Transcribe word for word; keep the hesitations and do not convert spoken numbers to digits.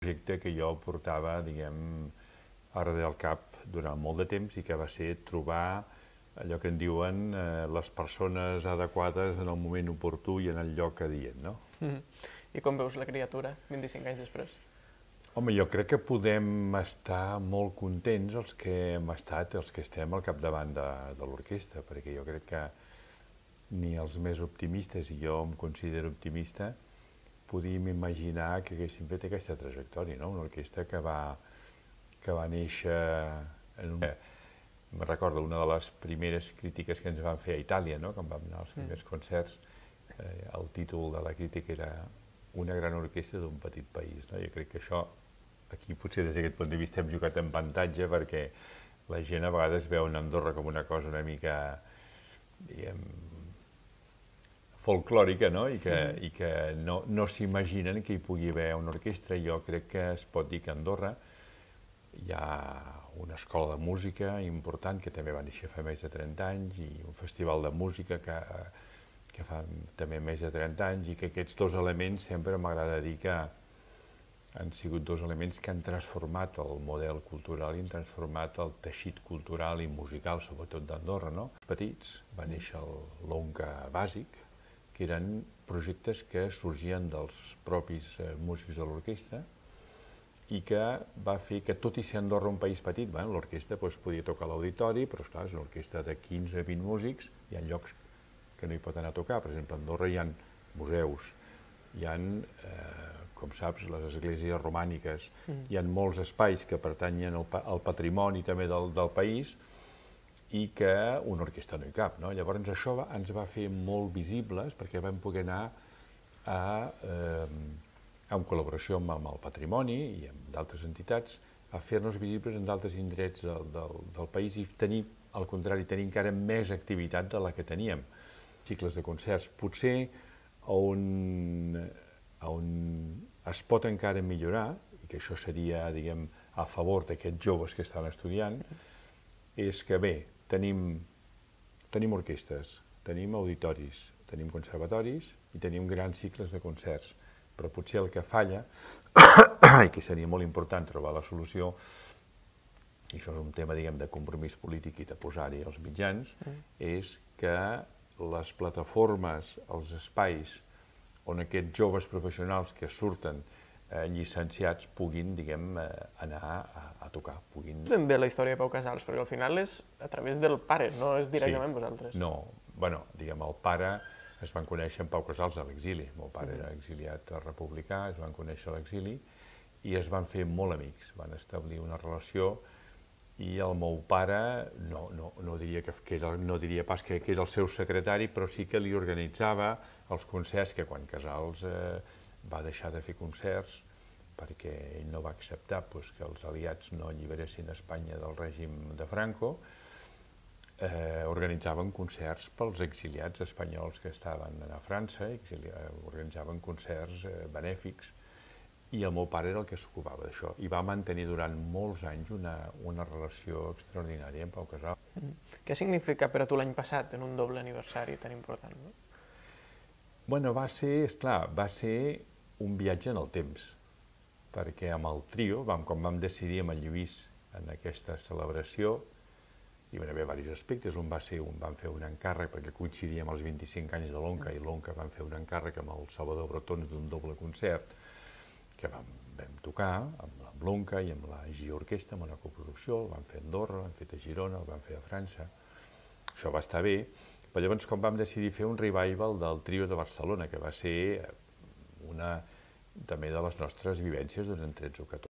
projecte que jo portava, diguem, a darrere del cap durant molt de temps i que va ser trobar allò que en diuen eh, les persones adequades en el moment oportú i en el lloc adient, no? Mm. I com veus la criatura vint-i-cinc anys després? Home, jo crec que podem estar molt contents els que hem estat, els que estem al capdavant de, de l'orquestra, perquè jo crec que ni els més optimistes, i jo em considero optimista, podíem imaginar que haguéssim fet aquesta trajectòria, no? Una orquestra que va, que va néixer en un... Me'n recordo, una de les primeres crítiques que ens van fer a Itàlia, no? Quan vam anar als primers concerts, eh, el títol de la crítica era Una gran orquestra d'un petit país, no? Jo crec que això, aquí potser des d'aquest punt de vista hem jugat en avantatge, perquè la gent a vegades veu en Andorra com una cosa una mica, diguem, folclòrica, no? I que, mm. i que no, no s'imaginen que hi pugui haver una orquestra. Jo crec que es pot dir que a Andorra hi ha una escola de música important que també va néixer fa més de trenta anys i un festival de música que, que fa també més de trenta anys i que aquests dos elements sempre m'agrada dir que han sigut dos elements que han transformat el model cultural i han transformat el teixit cultural i musical, sobretot d'Andorra, no? Els petits va néixer l'Onca Bàsic, que eren projectes que sorgien dels propis músics de l'orquestra i que va fer que, tot i ser Andorra un país petit, l'orquestra podia tocar a l'auditori, però esclar, és una orquestra de quinze a vint músics, hi ha llocs que no hi pot anar a tocar. Per exemple, a Andorra hi ha museus, hi ha, com saps, les esglésies romàniques, hi ha molts espais que pertanyen al patrimoni també del país i que una orquestra no hi cap. Llavors això ens va fer molt visibles perquè vam poder anar a en col·laboració amb el patrimoni i amb d'altres entitats, a fer-nos visibles en d'altres indrets del país i tenir, al contrari, tenir encara més activitat de la que teníem. Cicles de concerts, potser on es pot encara millorar, i que això seria, diguem, a favor d'aquests joves que estan estudiant, és que, bé, tenim orquestres, tenim auditoris, tenim conservatoris i tenim grans cicles de concerts, però potser el que falla, i que seria molt important trobar la solució, i això és un tema, diguem, de compromís polític i de posar-hi els mitjans, és que les plataformes, els espais on aquests joves professionals que surten llicenciats puguin, diguem, anar a tocar. Ben bé la història de Pau Casals, perquè al final és a través del pare, no és directament vosaltres. No, bueno, diguem, el pare es van conèixer en Pau Casals a l'exili. El meu pare era exiliat republicà, es van conèixer a l'exili i es van fer molt amics, van establir una relació i el meu pare, no diria pas que era el seu secretari, però sí que li organitzava els concerts, que quan Casals va deixar de fer concerts perquè ell no va acceptar que els aliats no alliberessin Espanya del règim de Franco, organitzaven concerts pels exiliats espanyols que estaven a França, organitzaven concerts benèfics, i el meu pare era el que s'ocupava d'això. I va mantenir durant molts anys una relació extraordinària amb Pau Casals. Què significa per a tu l'any passat en un doble aniversari tan important? Bueno, va ser, esclar, va ser un viatge en el temps, perquè amb el trio, quan vam decidir amb el Lluís en aquesta celebració, hi van haver diversos aspectes. Un va ser, vam fer un encàrrec, perquè coincidia amb els vint-i-cinc anys de l'Onca, i l'Onca van fer un encàrrec amb el Salvador Bretons d'un doble concert que vam tocar amb l'Onca i amb la G Orquestra, amb una coproducció, el vam fer a Andorra, l'hem fet a Girona, el vam fer a França. Això va estar bé, però llavors com vam decidir fer un revival del trio de Barcelona, que va ser una també de les nostres vivències durant tretze o catorze